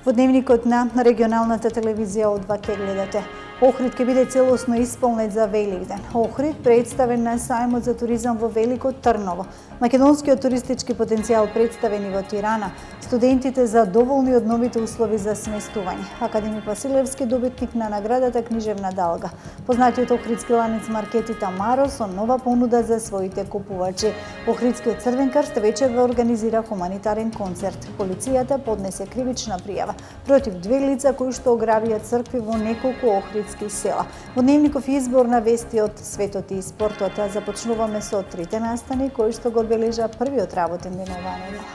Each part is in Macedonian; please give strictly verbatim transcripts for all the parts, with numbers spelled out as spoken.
Во дневникот на регионалната телевизија од два ќе гледате. Охрид ќе биде целосно исполнет за Великден. Охрид представен на сајмот за туризам во Велико Трново. Македонскиот туристички потенцијал представен и во Тирана. Студентите задоволни од новите услови за сместување. Академик Василевски добитник на наградата Книжевна Далга. Познатиот охридски ланец маркети Тамаро со нова понуда за своите купувачи. Охридскиот Црвен крст вечер ве организира хуманитарен концерт. Полицијата поднесе кривична пријава против две лица кои што ограбија цркви во неколку охридски села. Во дневников избор на вести од светот и спортот започнуваме со трите настани кои што го одбележа првиот работен ден оваа недела.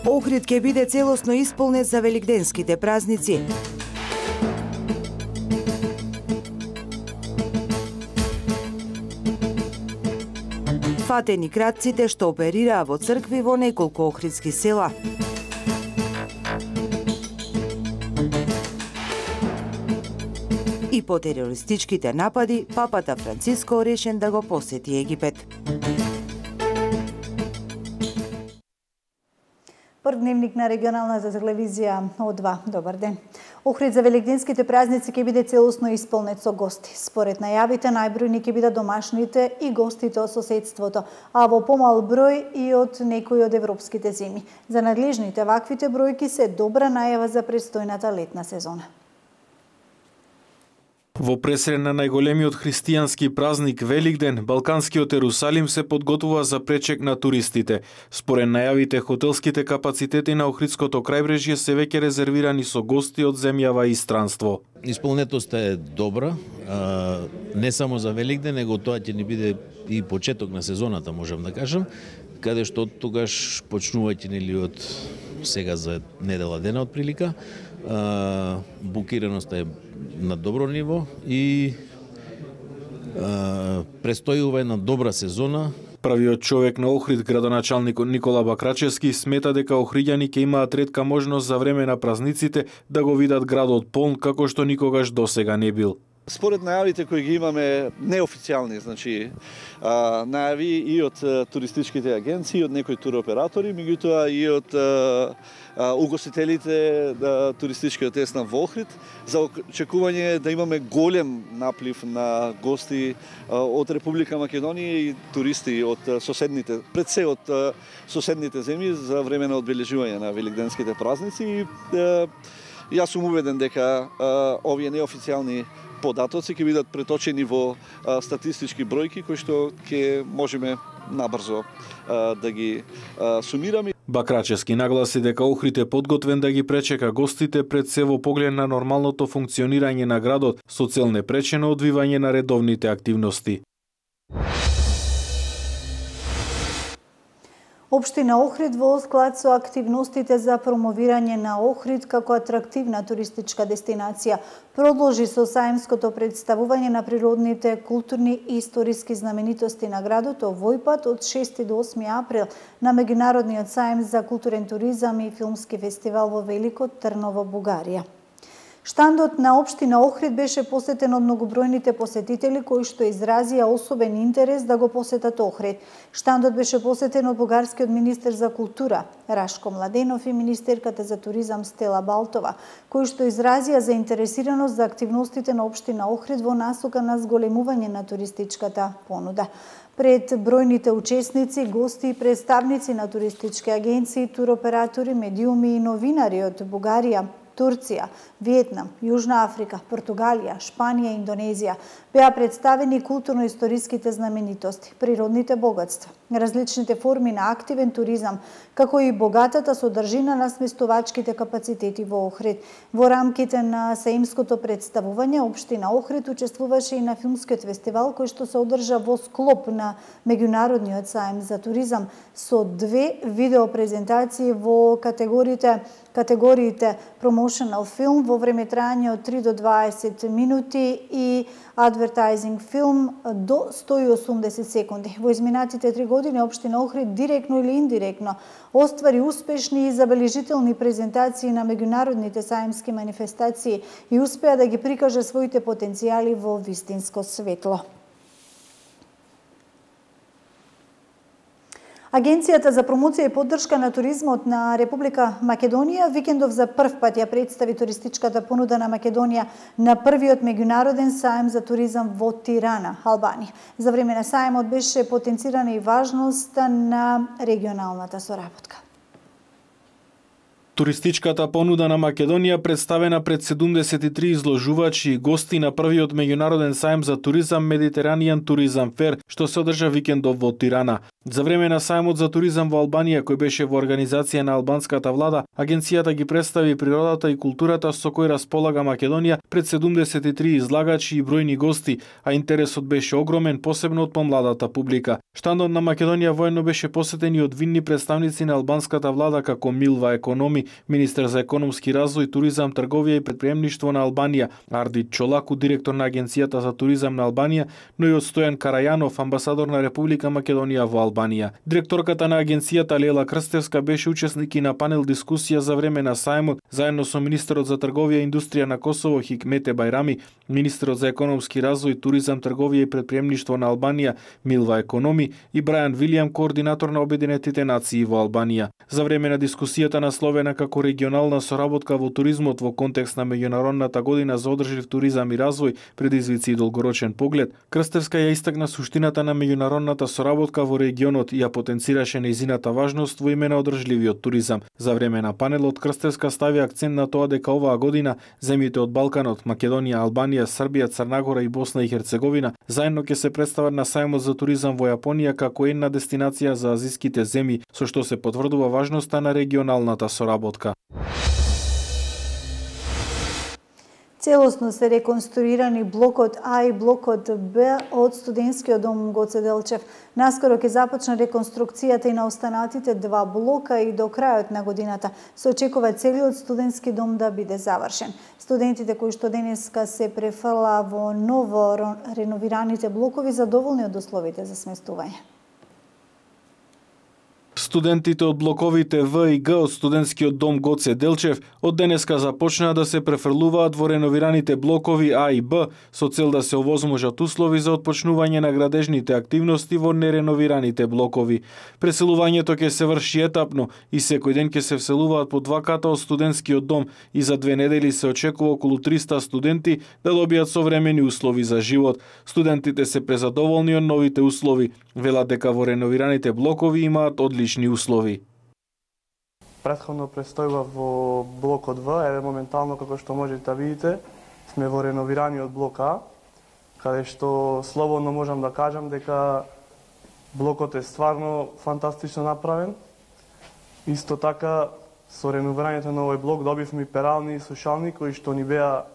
Охрид ќе биде целосно исполнет за великденските празници. Фатени кратците што оперираа во цркви во неколку охридски села. И по терористичките напади, папата Франциско решен да го посети Египет. Прв дневник на регионалната телевизија од два. Добар ден. Охрид за великденските празници ќе биде целосно исполнет со гости. Според најавите, најбројни ќе бидат домашните и гостите од соседството, а во помал број и од некои од европските земји. За надлежните ваквите бројки се добра најава за престојната летна сезона. Во пресред на најголемиот христијански празник Великден, Балканскиот Ерусалим се подготвува за пречек на туристите. Според најавите, хотелските капацитети на Охридското крајбрежје се веќе резервирани со гости од земјава и странство. Исполнетоста е добра, не само за Великден, него тоа ќе ни биде и почеток на сезоната, можам да кажам, каде што тогаш почнувајќи нели од сега за недела дена од прилика, букираноста е на добро ниво и а, престојува една добра сезона. Правиот човек на Охрид, градоначалникот Никола Бакрачевски, смета дека охриѓани ќе имаат ретка можност за време на празниците да го видат градот полн како што никогаш досега не бил. Според најавите кои ги имаме неофицијални, значи а, најави и од а, туристичките агенции, од некои туроператори, меѓутоа и од а, а, угостителите да, туристичкиот есна во Охрид, за очекување да имаме голем наплив на гости а, од Република Македонија и туристи од а, соседните, пред се од а, соседните земји за време на одбележување на великденските празници. И, а, јас сум убеден дека а, овие неофицијални податоци ќе бидат преточени во а, статистички бројки кои што ќе можеме набрзо а, да ги а, сумираме. Бакрачевски нагласи дека Охрид е подготвен да ги пречека гостите пред се во поглед на нормалното функционирање на градот со цел непречено одвивање на редовните активности. Општина Охрид во склад со активностите за промовирање на Охрид како атрактивна туристичка дестинација продолжи со саемското представување на природните, културни и историски знаменитости на градот овој пат од шести до осми април на меѓународниот саем за културен туризам и филмски фестивал во Велико Трново, Бугарија. Штандот на општина Охрид беше посетен од многобројните посетители кои што изразија особен интерес да го посетат Охрид. Штандот беше посетен од бугарскиот министер за култура Рашко Младенов и министерката за туризам Стела Балтова, кои што изразија заинтересираност за активностите на општина Охрид во насока на зголемување на туристичката понуда. Пред бројните учесници, гости и представници на туристички агенции, туроператори, медиуми и новинари од Бугарија, Турција, Виетнам, Јужна Африка, Португалија, Шпанија и Индонезија беа представени културно-историските знаменитости, природните богатства, различните форми на активен туризам, како и богатата содржина на сместувачките капацитети во Охрид. Во рамките на саемското представување, општина Охрид учествуваше и на филмскиот фестивал кој што се одржа во склоп на меѓународниот саем за туризам со две видеопрезентации во категориите категориите Promotional Film во време трајање од три до дваесет минути и Advertising Film до сто и осумдесет секунди. Во изминатите три години општина Охрид директно или индиректно оствари успешни и забележителни презентации на меѓународните саемски манифестации и успеа да ги прикаже своите потенцијали во вистинско светло. Агенцијата за промоција и поддршка на туризмот на Република Македонија викендов за прв пат ја представи туристичката понуда на Македонија на првиот меѓународен саем за туризам во Тирана, Албанија. За време на саемот беше потенцирана и важноста на регионалната соработка. Туристичката понуда на Македонија представена пред седумдесет и три изложувачи и гости на првиот меѓународен саем за туризам Медитеранијан туризам фер, што се одржа викендов во Тирана. За време на саемот за туризам во Албанија, кој беше во организација на албанската влада, агенцијата ги представи природата и културата со кој располага Македонија пред седумдесет и три излагачи и бројни гости, а интересот беше огромен, посебно од помладата публика. Штандот на Македонија воедно беше посетен и од видни представници на албанската влада како Милва Економи, министер за економски развој, туризам, трговија и претприемништво на Албанија, Ардит Чолаку, директор на агенцијата за туризам на Албанија, но и од Стојан Карајанов, амбасадор на Република Македонија во Албанија. Директорката на агенцијата Лела Крстевска беше учесник и на панел дискусија за време на саемот, заедно со министерот за трговија и индустрија на Косово Хикмете Бајрами, министерот за економски развој, туризам, трговија и претприемништво на Албанија Милва Економи и Брајан Вилијам, координатор на Обединетите нации во Албанија. За време на дискусијата насловена како регионална соработка во туризмот во контекст на меѓународната година за одржлив туризам и развој, предизвици и долгорочен поглед, Крстевска ја истакна суштината на меѓународната соработка во регионот и ја потенцираше нејзината важност во име на одржливиот туризам. За време на панелот Крстевска стави акцент на тоа дека оваа година земјите од Балканот, Македонија, Албанија, Србија, Црнагора и Босна и Херцеговина заедно ќе се представат на саемот за туризам во Јапонија како една дестинација за азиските земји, со што се потврдува важноста на регионалната соработка. Целосно се реконструирани блокот А и блокот Б од студентскиот дом Гоце Делчев. Наскоро ќе започне реконструкцијата и на останатите два блока и до крајот на годината се очекува целиот студентски дом да биде завршен. Студентите кои што денеска се префрла во ново реновираните блокови задоволни од условите за сместување. Студентите од блоковите В и Г од студентскиот дом Гоце Делчев од денеска започнаа да се префрлуваат во реновираните блокови А и Б со цел да се овозможат услови за отпочнување на градежните активности во нереновираните блокови. Преселувањето ќе се врши етапно и секој ден ќе се вселуваат по два ката од студентскиот дом и за две недели се очекува околу триста студенти да добијат современи услови за живот. Студентите се презадоволни од новите услови, велат дека во реновираните блокови имаат одлични услови. Претходно престојува во блокот В, еве моментално како што можете да видите, сме во реновираниот блок А, каде што слободно можам да кажам дека блокот е стварно фантастично направен. Исто така со реновирањето на овој блок добивме перални и сушални кои што ни беа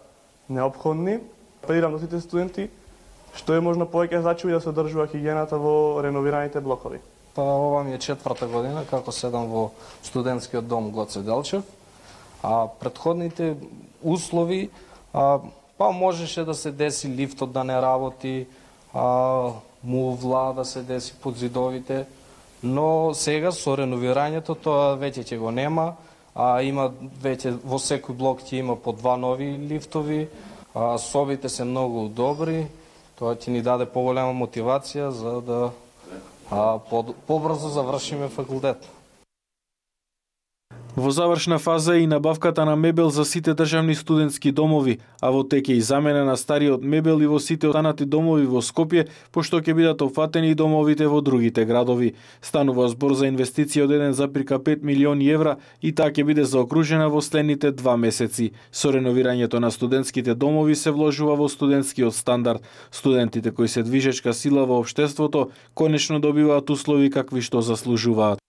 неопходни. Апелирам до сите студенти што е можно повеќе значи да се одржува хигиената во реновираните блокови. Па ова ми е четврта година како седам во студентскиот дом Гоце Делчев. А предходните услови, а, па можеше да се деси лифтот да не работи, а, мувла да се деси под зидовите, но сега со реновирањето тоа веќе ќе го нема, а има веќе во секој блок ќе има по два нови лифтови, а, собите се многу добри, тоа ќе ни даде поголема мотивација за да а побрзо завршиме факултет. Во завршна фаза е и набавката на мебел за сите државни студентски домови, а во тек е и замена на стариот мебел и во сите останати домови во Скопје, пошто ќе бидат опфатени и домовите во другите градови. Станува збор за инвестиција од еден запирка пет милиони евра и таа ќе биде заокружена во следните два месеци. Со реновирањето на студентските домови се вложува во студентскиот стандард. Студентите кои се движечка сила во општеството конечно добиваат услови какви што заслужуваат.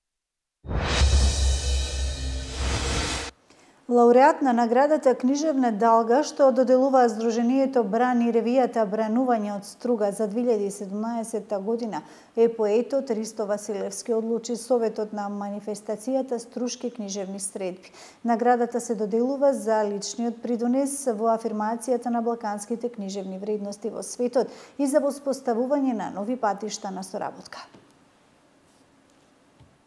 Лауреат на наградата Книжевна Далга, што доделува Сдруженијето Брани ревијата Бранување од струга за две илјади и седумнаесетта година, е поетот Ристо Василевски, одлучи Советот на манифестацијата Струшки книжевни средби. Наградата се доделува за личниот придонес во афирмацијата на балканските книжевни вредности во светот и за воспоставување на нови патишта на соработка.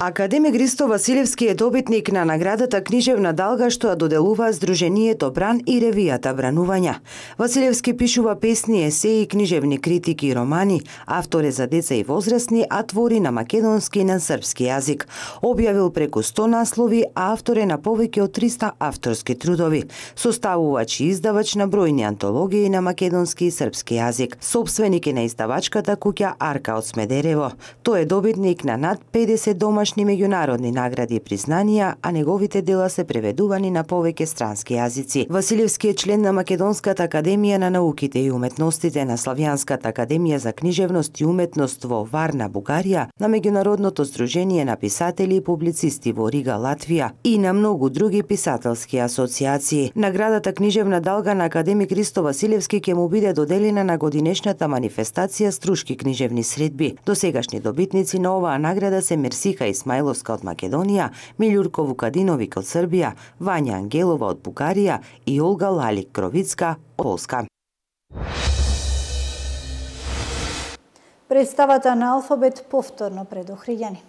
Академик Ристо Василевски е добитник на наградата Книжевна далга што ја доделува Сдруженијето Бран и ревијата Бранувања. Василевски пишува песни, есеи, книжевни критики и романи, автор е за деца и возрастни, а твори на македонски и на српски јазик. Објавил преку сто наслови, а автор е на повеќе од триста авторски трудови. Составувач и издавач на бројни антологии на македонски и српски јазик. Сопственик е на издавачката куќа Арка од Смедерево. Тој е добитник на над педесет домашни меѓународни награди и признанија, а неговите дела се преведувани на повеќе странски јазици. Василевски е член на Македонската академија на науките и уметностите, на Славјанската академија за книжевност и уметност во Варна, Бугарија, на Меѓународното сдружение на писатели и публицисти во Рига, Латвија и на многу други писателски асоциации. Наградата Книжевна далга на академик Ристо Василевски ќе му биде доделена на годинешната манифестација Струшки книжевни средби. Досегашни добитници на оваа награда се Мерсиха Исмаиловска од Македонија, Милјурко Вукадиновик од Србија, Вања Ангелова од Бугарија и Олга Лалик Кровицка од Полска. Представата на Алфабет повторно пред Охриѓани.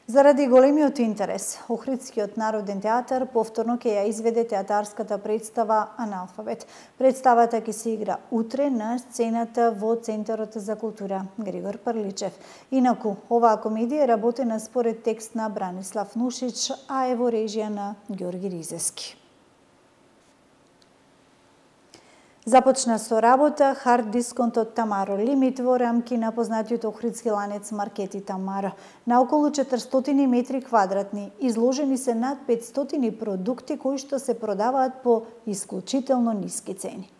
Заради големиот интерес, Охридскиот народен театар повторно ќе ја изведе театарската представа Аналфабет. Представата ќе се игра утре на сцената во Центарот за култура Григор Прличев. Инаку, оваа комедија е работена според текст на Бранислав Нушич, а е во режија на Ѓорги Ризески. Започна со работа хард дисконтот Тамаро Лимит во рамки на познатиот охридски ланец Маркети Тамаро. На околу четиристотини метри квадратни изложени се над петстотини продукти кои што се продаваат по исклучително ниски цени.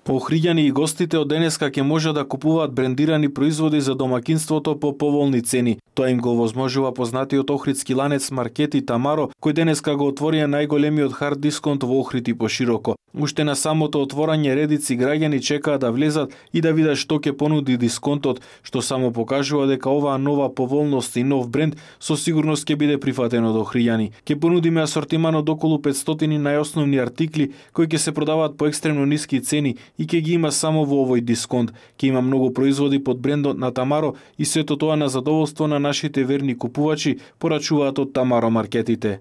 Охриѓани и гостите од денеска ќе може да купуваат брендирани производи за домакинството по поволни цени. Тоа им го возможува познатиот охридски ланец Маркети Тамаро, кој денеска го отворија најголемиот хард дисконт во Охрид и пошироко. Уште на самото отворање редици граѓани чекаат да влезат и да видат што ќе понуди дисконтот, што само покажува дека оваа нова поволност и нов бренд со сигурност ќе биде прифатен од охриѓани. Ќе понудиме асортиман од околу петстотини најосновни артикли кои ќе се продаваат по екстремно ниски цени и ќе ги има само во овој дисконт. Ќе има многу производи под брендот на Тамаро и сето тоа на задоволство на нашите верни купувачи, порачуваат од Тамаро маркетите.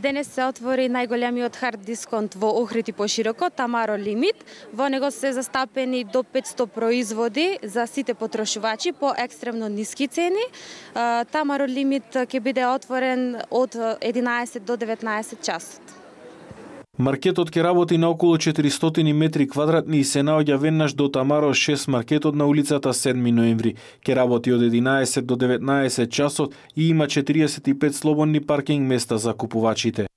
Денес се отвори најголемиот хард дисконт во Охрид и пошироко, Тамаро Лимит. Во него се застапени до петсто производи за сите потрошувачи по екстремно ниски цени. Тамаро Лимит ќе биде отворен од единаесет до деветнаесет часот. Маркетот ќе работи на околу четиристотини метри квадратни и се наоѓа веднаш до Тамаро шест маркетот на улицата седми ноември. Ќе работи од единаесет до деветнаесет часот и има четириесет и пет слободни паркинг места за купувачите.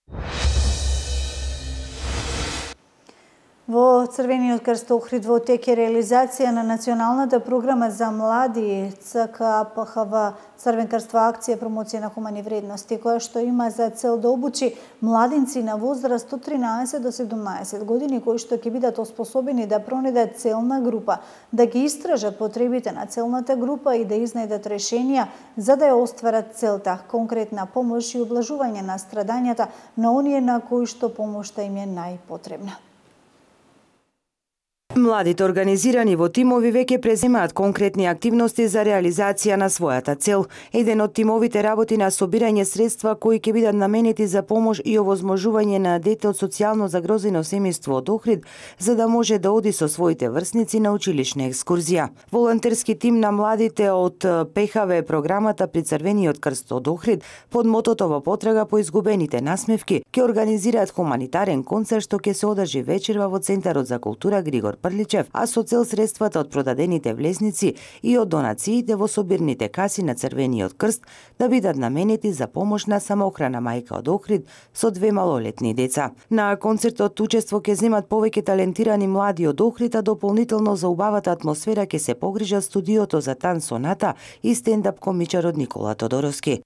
Во Црвениот крст Охрид во тек е реализација на националната програма за млади ЦКПХВ Црвен крст во акција промоција на хумани вредности, која што има за цел да обучи младинци на возраст од тринаесет до седумнаесет години кои што ќе бидат оспособени да пронајдат целна група, да ги истражат потребите на целната група и да изнајдат решенија за да ја остварат целта, конкретна помош и облажување на страдањата на оние на кои што помошта им е најпотребна. Младите организирани во тимови веќе преземаат конкретни активности за реализација на својата цел. Еден од тимовите работи на собирање средства кои ќе бидат наменети за помош и овозможување на дете од социјално загрозено семејство од Охрид, за да може да оди со своите врсници на училишна екскурзија. Волонтерски тим на младите од ПХВ програмата при Црвениот крст од Охрид под мотото во потрага по изгубените насмевки ќе организираат хуманитарен концерт што ќе се одржи вечерва во Центарот за култура Григор Прличев, а со цел средствата од продадените влезници и од донациите во собирните каси на Црвениот крст да бидат наменети за помош на самоохрана мајка од Охрид со две малолетни деца. На концертот учество ќе земат повеќе талентирани млади од Охрид, а дополнително за убавата атмосфера ќе се погрижат студиото за тан соната и стендап комичарот Никола Тодоровски.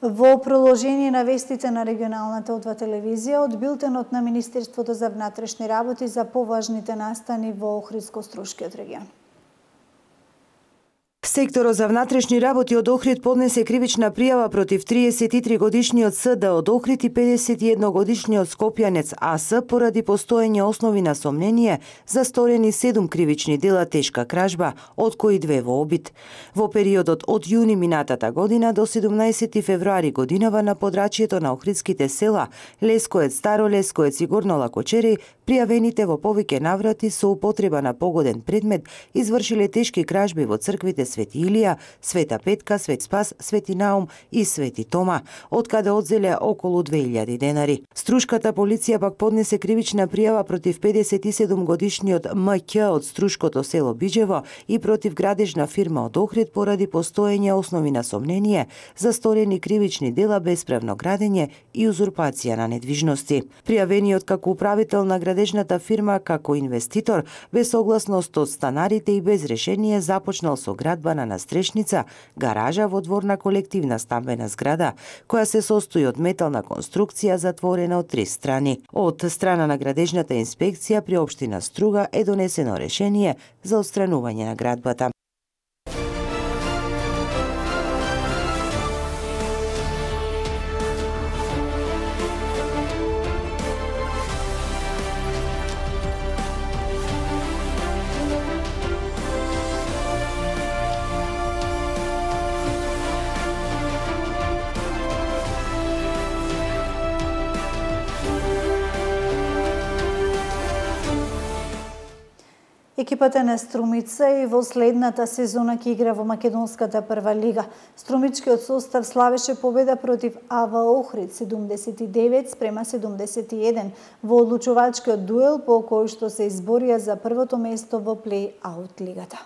Во продолжение на вестите на регионалната одва телевизија, од билтенот на Министерството за внатрешни работи за поважните настани во Охридско-Струшкиот регион. Секторот за внатрешни работи од Охрид поднесе кривична пријава против триесет и три годишниот С Д од Охрид и педесет и едно годишниот скопјанец А С поради постоење основи на сомнение за сторени седум кривични дела тешка кражба, од кои две во обид. Во периодот од јуни минатата година до седумнаесети февруари годинава на подрачјето на охридските села Лескоец, Старо Лескоец и Горно Лакочери, пријавените во повеќе наврати со употреба на погоден предмет извршиле тешки кражби во црквите Свети Илија, Света Петка, Свет Спас, Свети Наум и Свети Тома, од каде одзеле околу две илјади денари. Струшката полиција пак поднесе кривична пријава против педесет и седум годишниот М Ќ од Струшкото село Биџево и против градежна фирма од Охрид поради постоење основи на сомнение за сторени кривични дела бесправно градење и узурпација на недвижности. Пријавениот како управител на градежната фирма како инвеститор без согласност од станарите и без решение започнал со градба на настрешница, гаража во двор на колективна стамбена зграда, која се состои од метална конструкција затворена од три страни. Од страна на градежната инспекција при општина Струга е донесено решение за отстранување на градбата. Екипата на Струмица и во следната сезона ќе игра во Македонската прва лига. Струмичкиот состав славеше победа против А В Охрид седумдесет и девет спрема седумдесет и еден во одлучувачкиот дуел по кој што се изборија за првото место во плей-аут лигата.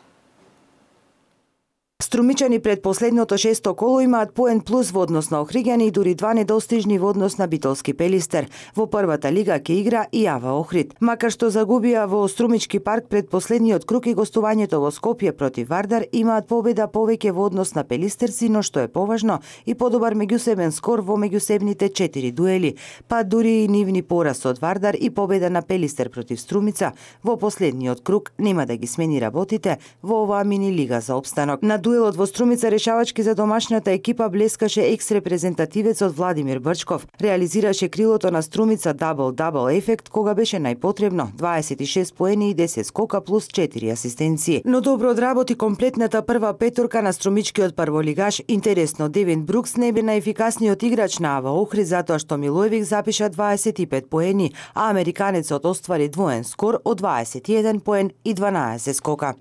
Струмичани пред последното шесто коло имаат поен плюс во однос на Охриѓани и дури два недостижни во однос на Битолски Пелистер. Во првата лига ќе игра и А В Охрид. Макар што загубија во Струмички парк пред последниот круг и гостувањето во Скопје против Вардар, имаат победа повеќе во однос на пелистерци, но што е поважно и подобар меѓусебен скор во меѓусебните четири дуели, па дури и нивни пораз од Вардар и победа на Пелистер против Струмица во последниот круг нема да ги смени работите во оваа мини лига за опстанок. На дуелот во Струмица решавачки за домашната екипа блескаше екс-репрезентативецот Владимир Брчков. Реализираше крилото на Струмица дабл-дабл ефект кога беше најпотребно дваесет и шест поени и десет скока плюс четири асистенции. Но добро одработи комплетната прва петорка на струмичкиот прволигаш. Интересно, Девин Брукс не бе најефикасниот играч на А В Охрид затоа што Милоевик запиша дваесет и пет поени, а американецот оствари двоен скор од дваесет и еден поен и дванаесет скока.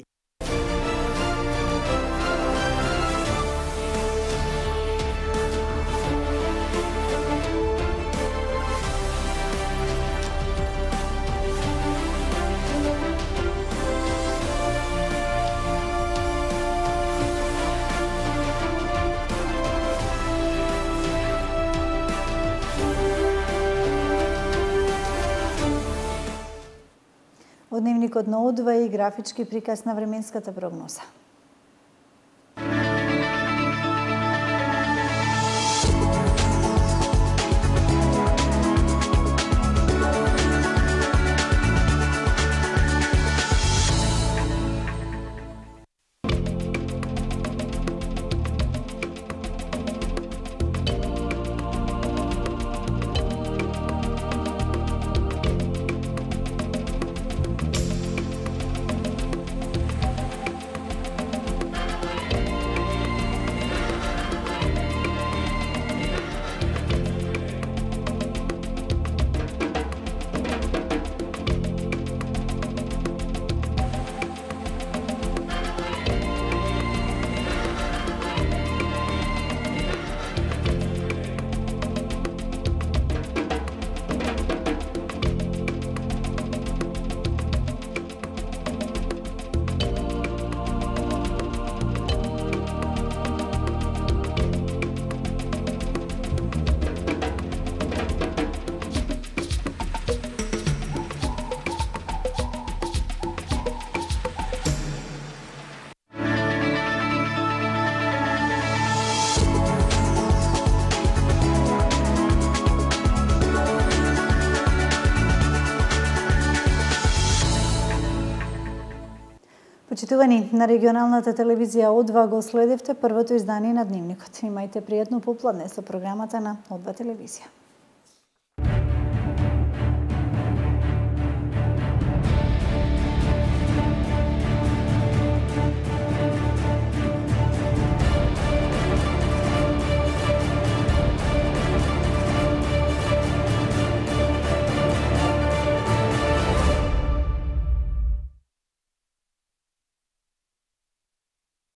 Во дневникот на Одва и графички приказ на временската прогноза. Почитувани, на регионалната телевизија О два го следевте првото издание на Дневникот. Имајте пријатно попладне со програмата на О два телевизија.